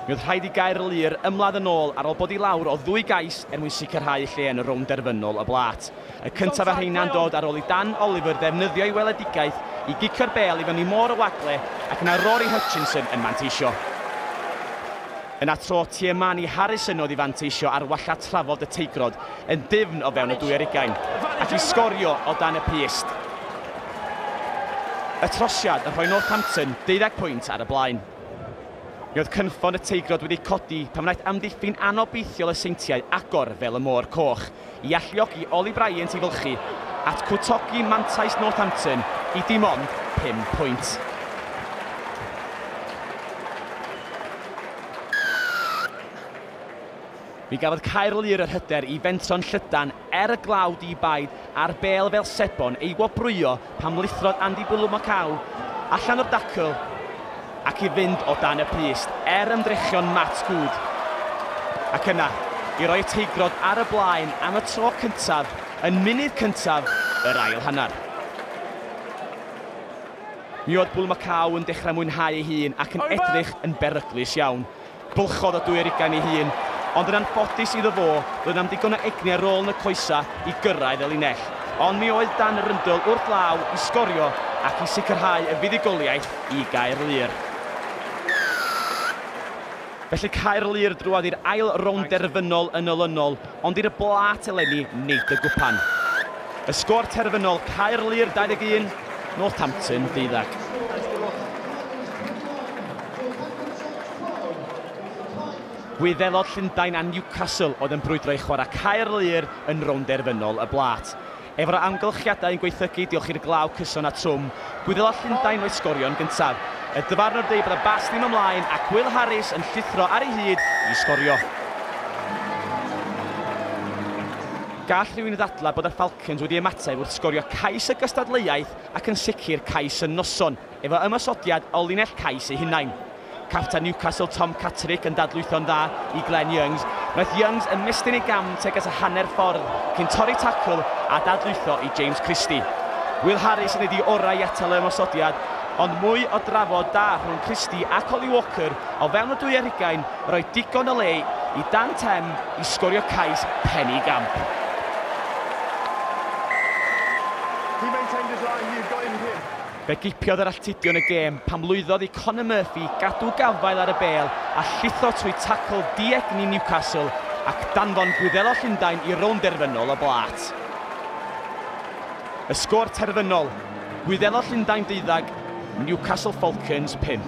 Mi oedd rhaid i Gaerlŷr ymladd yn ôl ar ôl bod i lawr o ddwy gais er mwyn sicrhau lle yn y rownd derfynol y blât. Y cyntaf ar rheina'n dod ar ôl i Dan Oliver ddefnyddio ei weledigaeth i gicio'r bêl i fyny môr o wagle ac yna Rory Hutchinson yn manteisio. Yna tro Tiamani Harrison oedd i fanteisio ar walla trafod y Teigrod yn dyfn o fewn y 22 ac i sgorio o dan y pyst. Y trosiad yn rhoi Northampton 12 pwynt ar y blaen. Mi oedd cynffon y Teigrod wedi codi pan wnaeth amddiffyn anobeithiol y Seintiau agor fel y môr coch i alluogi Oli Bryant i fylchu at cwtogi mantais Northampton i dim ond 5 pwynt. Mi gafodd Caerlŷr yr hyder i fentro'n llydan er y glaw di-baid a'r bêl fel sebon ei wobrwyo pan lithrodd Andy Bulumakau allan o'r dacl ac i fynd o dan y pyst er ymdrechion Matt Good. Ac yna, i roi Teigrod ar y blaen am y tro cyntaf yn munud cyntaf yr ail hanner. Mi oedd Bulumakau yn dechrau mwynhau ei hun ac yn edrych yn beryglus iawn. Bylchodd o 22 ei hun, ond yn anffodus iddo fo, roedd am digon o egni ar ôl yn y coesa i gyrraedd y linell. Ond mi oedd Dan Rundle wrth law i sgorio ac i sicrhau y fuddugoliaeth i Gaerlŷr. Felly Caerlŷr drwodd i'r ail rownd derfynol yn olynol, ond i'r blât eleni nid y gwpan. Y sgôr terfynol Caerlŷr 21, Northampton 12. Gwyddelod Llundain a Newcastle oedd yn brwydro i chwarae Caerlŷr yn rownd derfynol y blât. Efo'r amgylchiadau yn gweithygu diolch i'r glaw cyson a trwm, Gwyddelod Llundain oedd sgorio'n gyntaf. Y dyfarnwr deud bod y bas ddim ymlaen ac Will Harris yn llithro ar ei hyd i sgorio. Gall rhywun ddadlau bod y Falcons wedi ymateb wrth sgorio cais y gystadleuaeth ac yn sicr cais y noson, efo ymosodiad o linell cais eu hunain. Captain Newcastle Tom Catterick yn dadlwytho'n dda i Glenn Youngs. Wnaeth Youngs ymestyn ei gam tuag at y hanner ffordd cyn torri tacl a dadlwytho i James Christie. Will Harris yn ei orau i atal y ymosodiad, ond mwy o drafod da rhwng Christie ac Ollie Walker o fewn y 22 roi digon o le i Dan Tem i sgorio cais penny gamp. He maintained his line, you've got him here. Fe gipiodd yr alltudion y gêm pam lwyddodd i Conor Murphy gadw gafael ar y bêl a llithro trwy tacl diegni Newcastle ac danfon Gwyddelod Llundain i rownd derfynol y blât. Y sgôr terfynol, Gwyddelod Llundain 12, Newcastle Falcons 5.